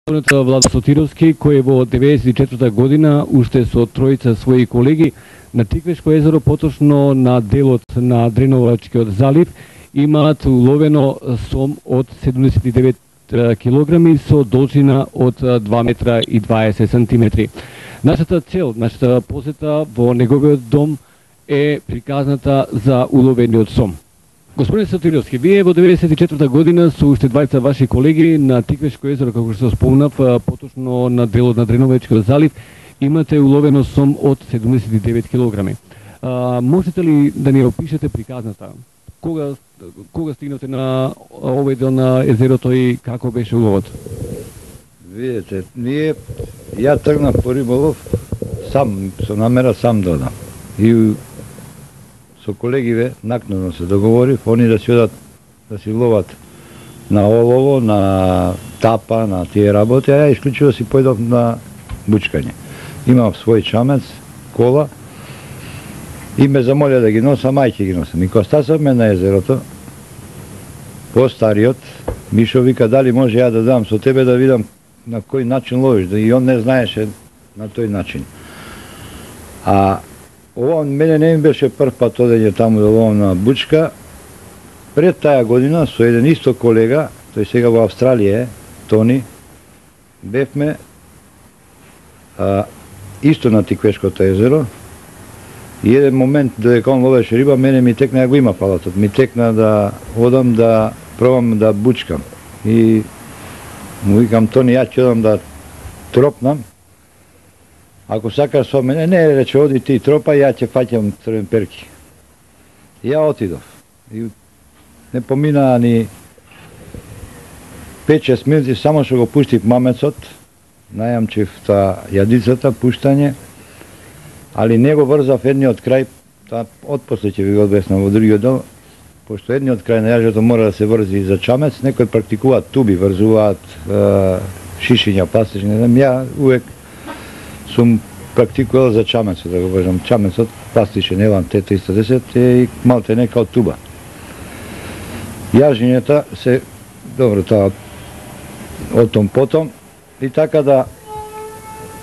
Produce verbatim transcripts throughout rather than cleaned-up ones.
Владо Сотировски, кој во деветдесет и четврта година уште со тројца своји колеги на Тиквешко езеро, поточно на делот на Дреновачкиот залив, имаат уловено сом од седумдесет и девет килограми со должина од два метра и дваесет сантиметри. Нашата цел, нашата посета во неговиот дом е приказната за уловениот сом. Господин Сотировски, вие во деветдесет и четврта година со уште двајца ваши колеги на Тиквешко езеро, како што спомнав, поточно на делот на Дреновачкиот залив, имате уловено сом од седумдесет и девет килограми. А, можете ли да ни опишете приказната? Кога кога стигнате на овој дел на езерото и како беше уловот? Видете, ние ја тргнав по риболов сам, со намера сам да одам. И со колегиве накнадно се договорив, они да си одат да си ловат на олово, на тапа, на тие работи, а ја исклучиво си појдов на бучкање. Имав свој чамец, кола, и ме замолија да ги носам, ај ќе ги носам. И кога стасавме на езерото, по-стариот, Мишо вика, дали може ја да дам со тебе да видам на кој начин ловиш, да и он не знаеше на тој начин. А ова мене не ми беше прв пат одење таму да ловам на бучка. Пред таа година со еден исто колега, тој сега во Австралија е, Тони, бевме а, исто на Тиквешкото езеро. И еден момент додека он ловеше риба, мене ми текна, ја го има палатот, ми текна да одам да пробам да бучкам. И му викам, Тони, ја ќе одам да тропнам. Ако сакаш со мене, не, рече, оди ти тропа, ја ќе фаќам црвен перки. И ја отидов. И не помина ни пет-шест минути, само што го пуштив мамецот, најамчив та јадицата, пуштање, али не го врзав едниот крај, та отпосле ќе ви го одвеснам во другиот дел, пошто едниот крај на јажето мора да се врзи за чамец, некои практикуваат туби, врзуваат е, шишиња, пластични, не знам, ја увек сум практикувал за чамецот, да го кажам, чамецот, пластичен елан Т триста десет е и малте не као туба. Јажињата се, добро, таа од том потом, и така да,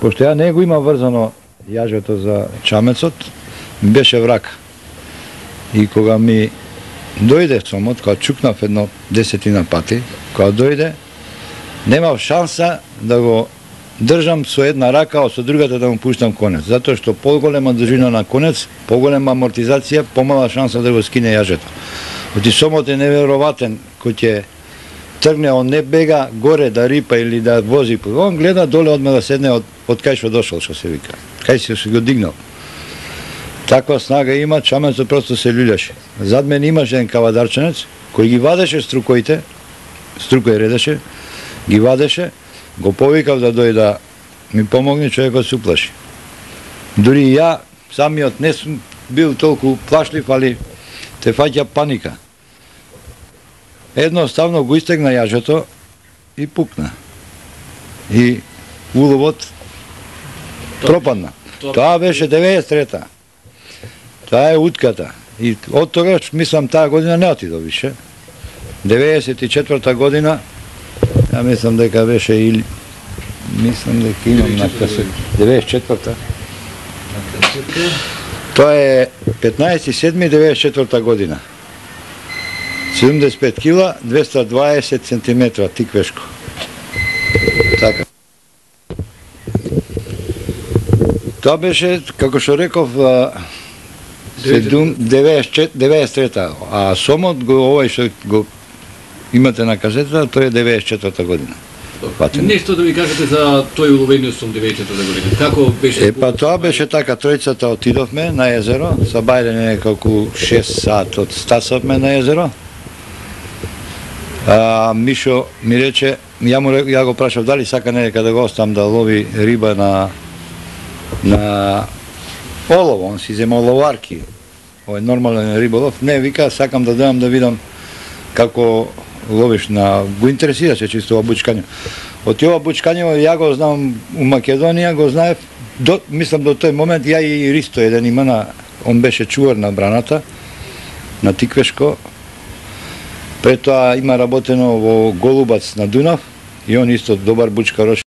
пошто ја не го има врзано јажето за чамецот, беше врак. И кога ми дојде сомот, кога чукнав едно десетина пати, кога дојде, немав шанса да го држам со една рака, а со другата да му пуштам конец. Затоа што поголема држина на конец, поголема амортизација, помала шанса да го скине јажето. Оти сомот е невероватен, кој ќе тргне, он не бега горе да рипа или да вози, он гледа доле одме да седне од, од кај што дошол, што се вика. Кај си се го дигнал. Таква снага има, чамецот просто се люљаше. Зад мен имаше еден кавадарченец, кој ги вадеше струкоите, струкој редеше, ги вадеше, го повикав да дојде да ми помогне, човекот се уплаши. Дури ја, самиот не сум бил толку плашлив, али те фаќа паника. Едноставно го истегна јажето и пукна. И уловот пропадна. Тоа беше деветдесет и трета. Тоа е утката. И од тогаш, мислам, таа година не отидо више. деветдесет и четврта година, ја мислам дека беше или... Мислам дека имам на касет. деветдесет и четврта. Тоа е петнаесети седми деветдесет и четврта година. седумдесет и пет кила, двеста и дваесет сантиметра, Тиквешко. Така. Тоа беше, како што реков, деветдесет и трета, а сомот, го, овој што го имате на касетата, тој е деветдесет и четврта година. Нешто да ми кажете за тој уловениот сом деветдесет и четврта година. Како беше? Е, па тоа беше така, тројцата отидовме на езеро, са бајле неколку шест сат од стасавме на езеро. А, Мишо ми рече, ја, му, ја го прашав дали сака нека да го оставам да лови риба на на олово, он си зема оловарки, овој нормален риболов. Не, вика, сакам да дојам да видам како ловиш на... Го интересираше чисто ова бучкање. Од ова бучкање, ја го знам у Македонија, го знаев, до, мислам до тој момент, ја и Ристо еден има на... Он беше чувар на браната, на Тиквешко. Пред тоа има работено во Голубац на Дунав, и он исто добар бучкарош.